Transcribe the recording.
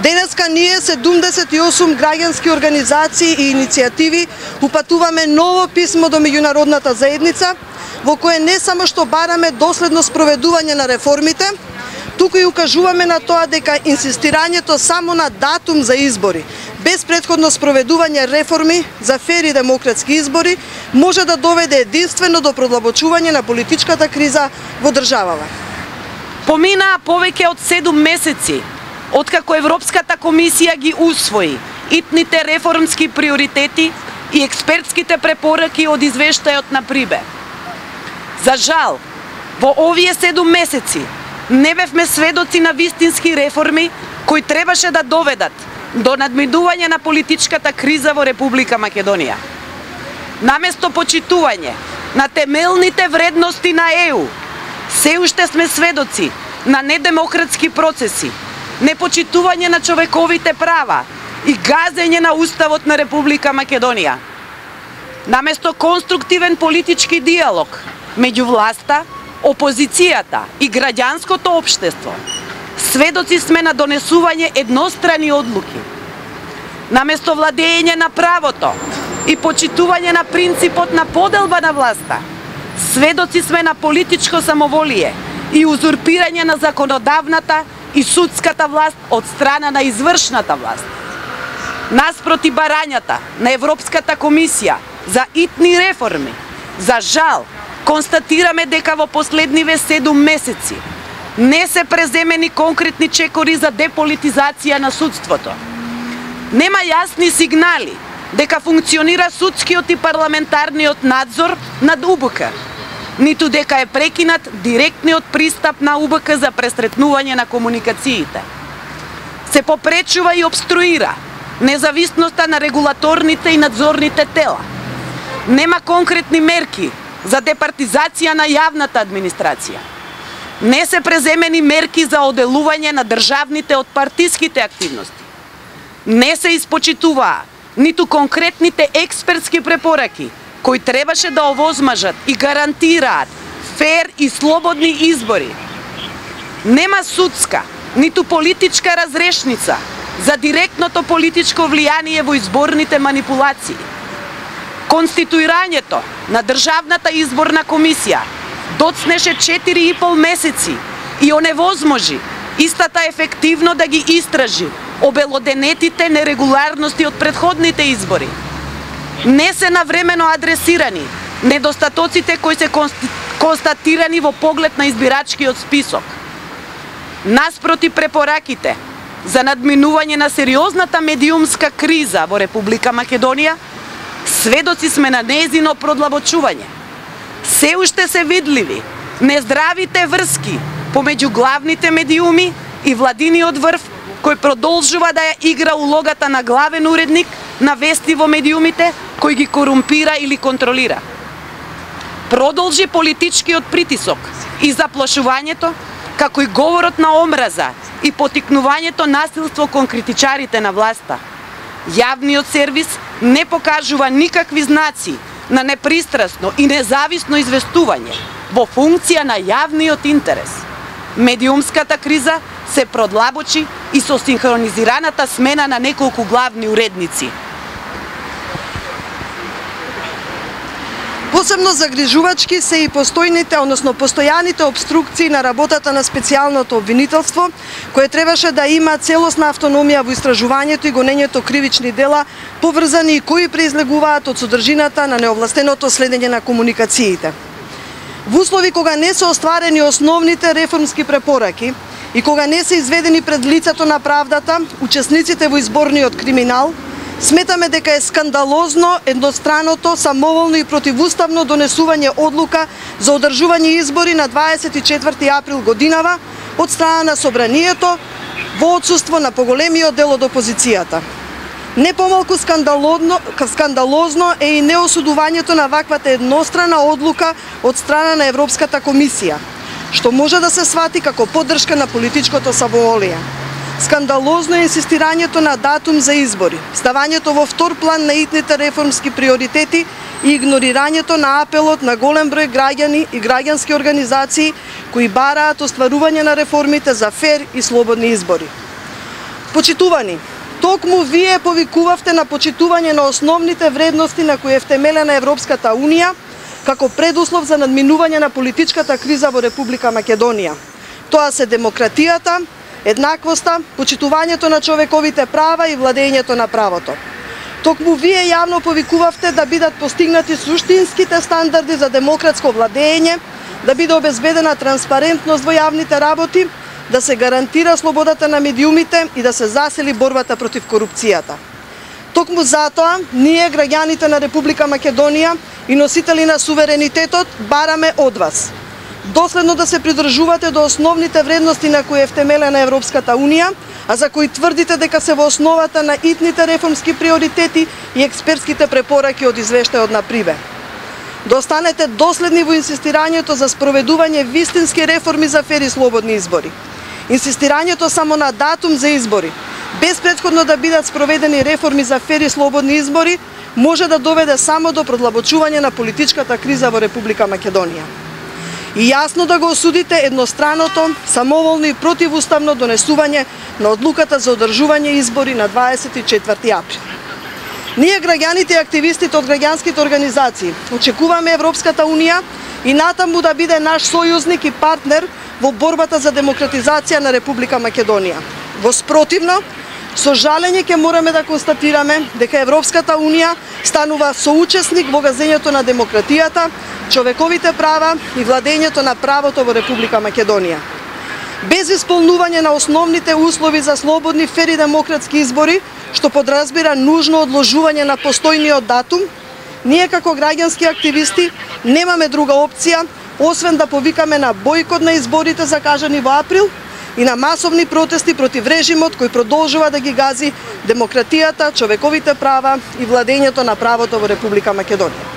Денеска ние 78 граѓански организации и иницијативи упатуваме ново писмо до меѓународната заедница, во кое не само што бараме доследно спроведување на реформите, туку и укажуваме на тоа дека инсистирањето само на датум за избори, без претходно спроведување реформи за фер и демократски избори, може да доведе единствено до продлабочување на политичката криза во државава. Поминаа повеќе од 7 месеци откако Европската комисија ги усвои итните реформски приоритети и експертските препораки од извештајот на Прибе. За жал, во овие 7 месеци не бевме сведоци на вистински реформи кои требаше да доведат до надминување на политичката криза во Република Македонија. Наместо почитување на темелните вредности на ЕУ, се уште сме сведоци на недемократски процеси, непочитување на човековите права и газење на Уставот на Република Македонија. Наместо конструктивен политички диалог меѓу власта, опозицијата и граѓанското општество, сведоци сме на донесување еднострани одлуки. Наместо владење на правото и почитување на принципот на поделба на власта, сведоци сме на политичко самоволие и узурпирање на законодавната и судската власт од страна на извршната власт. Наспроти барањата на Европската комисија за итни реформи, за жал, констатираме дека во последниве 7 месеци не се преземени конкретни чекори за деполитизација на судството. Нема јасни сигнали дека функционира судскиот и парламентарниот надзор над УБК, ниту дека е прекинат директниот пристап на УБК за пресретнување на комуникациите. Се попречува и обструира независноста на регулаторните и надзорните тела. Нема конкретни мерки за департизација на јавната администрација. Не се преземени мерки за оделување на државните од партиските активности. Не се испочитуваа ниту конкретните експертски препораки кои требаше да овозмажат и гарантираат фер и слободни избори. Нема судска, ниту политичка разрешница за директното политичко влијание во изборните манипулации. Конституирањето на Државната изборна комисија доцнеше 4,5 месеци и оневозможи истата ефективно да ги истражи обелоденетите нерегуларности од претходните избори. Не се навремено адресирани недостатоците кои се констатирани во поглед на избирачкиот список. Наспроти препораките за надминување на сериозната медиумска криза во Република Македонија, сведоци сме на нејзино продлабочување. Се уште се видливи нездравите врски помеѓу главните медиуми и владиниот врв кој продолжува да ја игра улогата на главен уредник на вести во медиумите кој ги корумпира или контролира. Продолжи политичкиот притисок и заплашувањето, како и говорот на омраза и потикнувањето насилство кон критичарите на власта. Јавниот сервис не покажува никакви знаци на непристрасно и независно известување во функција на јавниот интерес. Медиумската криза се продлабочи и со синхронизираната смена на неколку главни уредници. Посебно загрижувачки се и постојаните обструкции на работата на специјалното обвинителство, кое требаше да има целосна автономија во истражувањето и гонењето кривични дела, поврзани и кои произлегуваат од содржината на неовластеното следење на комуникациите. Во услови кога не се остварени основните реформски препораки и кога не се изведени пред лицето на правдата учесниците во изборниот криминал, сметаме дека е скандалозно едностраното, самоволно и противуставно донесување одлука за одржување избори на 24 април годинава од страна на Собранието во отсуство на поголемиот дел од опозицијата. Не помалку скандалозно е и неосудувањето на ваквата еднострана одлука од страна на Европската комисија, што може да се свати како поддршка на политичкото самоволие. Скандалозно е инсистирањето на датум за избори, ставањето во втор план на итните реформски приоритети и игнорирањето на апелот на голем број граѓани и граѓански организации кои бараат остварување на реформите за фер и слободни избори. Почитувани, токму вие повикувавте на почитување на основните вредности на кои е втемелена Европската Унија како предуслов за надминување на политичката криза во Република Македонија. Тоа се демократијата, еднаквоста, почитувањето на човековите права и владењето на правото. Токму вие јавно повикувавте да бидат постигнати суштинските стандарди за демократско владење, да биде обезбедена транспарентност во јавните работи, да се гарантира слободата на медиумите и да се засили борбата против корупцијата. Токму затоа, ние, граѓаните на Република Македонија и носители на суверенитетот, бараме од вас доследно да се придржувате до основните вредности на кои е втемелена Европската Унија, а за кои тврдите дека се во основата на итните реформски приоритети и експертските препораки од извештајот на Прибе. Да останете доследни во инсистирањето за спроведување вистински реформи за фер и слободни избори. Инсистирањето само на датум за избори, без претходно да бидат спроведени реформи за фер и слободни избори, може да доведе само до продлабочување на политичката криза во Република Македонија. И јасно да го осудите едностраното, самоволно и противуставно донесување на одлуката за одржување избори на 24 април. Ние, граѓаните и активистите од граѓанските организации, очекуваме Европската Унија и натаму да биде наш сојузник и партнер во борбата за демократизација на Република Македонија. Во спротивно, со жалење ќе мораме да констатираме дека Европската Унија станува соучесник во газењето на демократијата, човековите права и владењето на правото во Република Македонија. Без исполнување на основните услови за слободни, фер и демократски избори, што подразбира нужно одложување на постојниот датум, ние како граѓански активисти немаме друга опција, освен да повикаме на бојкот на изборите закажани во април и на масовни протести против режимот кој продолжува да ги гази демократијата, човековите права и владењето на правото во Република Македонија.